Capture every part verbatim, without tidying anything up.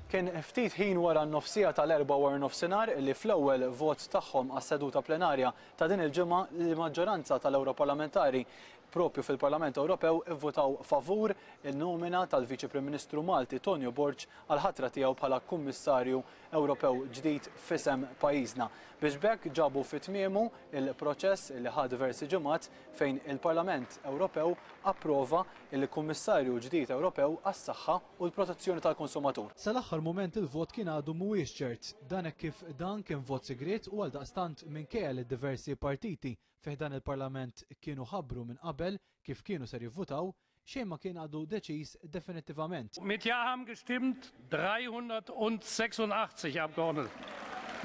Kien ftit ħin wara n-nofsija tal-Erbgħa wara nofsinhar li fl-ewwel vot tagħhom għas-seduta plenarja ta' din il-ġimgħa l-maġġoranza tal-Ewroparlamentari propju fil-Parlament Ewropew ivvutaw favur il-nomina tal-Viċi Prim Ministru Malti Tonio Borg għal ħatra tiegħu bħala Kummissarju Ewropew ġdid f'isem pajjiżna. Biex b'hekk ġabu fi tmiemu il-proċess li ħa diversi ġimgħat fejn il-Parlament Ewropew approva il-Kummissarju ġdid Ewropew għas-saħħa u l-protezzjoni tal-konsumatur. Sal-aħħar mument il-vot kien għadu mhuwiex ċert, dan hekk kif dan kien vot sigriet u għaldaqstant minkejja li diversi partiti fi ħdan il-Parlament kienu ħabbru minn qabel kif kienu ser jivvutaw, xejn ma kien għadu deċiż definittivament. Mit Ja haben gestimmt dreihundertsechsundachtzig Abgeordnete.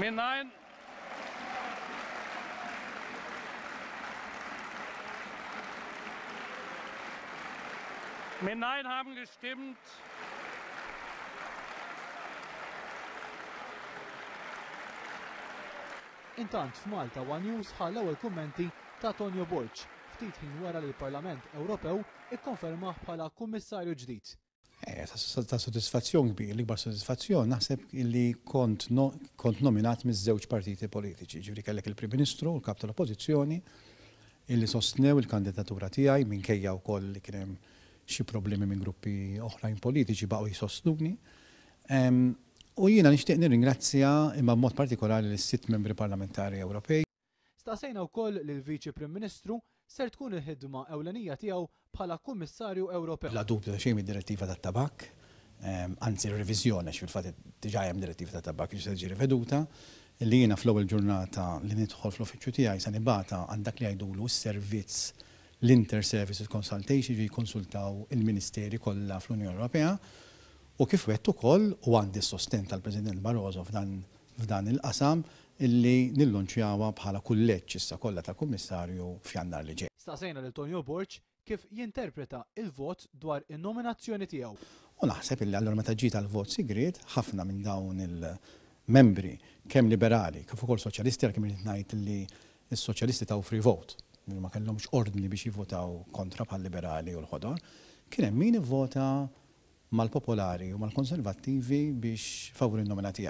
Mit Nein Mit Nein haben gestimmt Intant f'Malta One News ħa l-ewwel kummenti ta' Tonio Borg ftit ħin wara li l-Parlament Ewropew ikkonfermah bħala kummissarju ġdid. Eh, ta' sodisfazzjon kbir, l-ikbar sodisfazzjon naħseb li kont, no, kont nominat miż-żewġ partiti politiċi, ġifieri kellek il-Prim Ministru u l-Kap tal-Oppożizzjoni illi sostnew il-kandidatura tiegħi minkejja wkoll li kien hemm xi problemi minn gruppi oħrajn politiċi baqgħu jsostnuni. Um, u jiena nixtieq nirringrazzja imma b'mod partikolari lis-sitt membri parlamentari Ewropej. Staqsejna wkoll lil Viċi Prim Ministru ser tkun il-ħidma ewlenija tiegħu bħala Kummissarju Ewropew. Bla dubju ta' xejn id-direttiva tat-tabak, anzi r-reviżjoni għax fil-fatt diġà hemm direttiva tat-tabak li se tiġi riveduta, li jiena fl-ewwel ġurnata li nidħol fl-uffiċċju tiegħi se nibgħatha għand dak li jgħidulu s-servizz l-Inter-Services Consultation ġi jikkonsultaw il-Ministeri kollha fl-Unjoni Ewropea u kif wegħedt ukoll u għandi s-sosten tal-President Barroso f'dan f'dan il-qasam illi nillunċjawha bħala kulleġġ issa kollha ta' kummissarju f'Jannar li ġej. Staqsejna lil Tonio Borg kif jinterpreta il-vot dwar in-nominazzjoni tiegħu. U naħseb illi allura meta ġiet għal-vot sigriet ħafna minn dawn il-membri kemm liberali kif ukoll soċjalisti għalkemm irid ngħid li s-soċjalisti taw free vote, ma kellhomx ordni biex jivvotaw kontra bħal liberali u l-ħodor, kien hemm min ivvota mal-popolari u mal-konservattivi biex favur in-nomina tiegħi.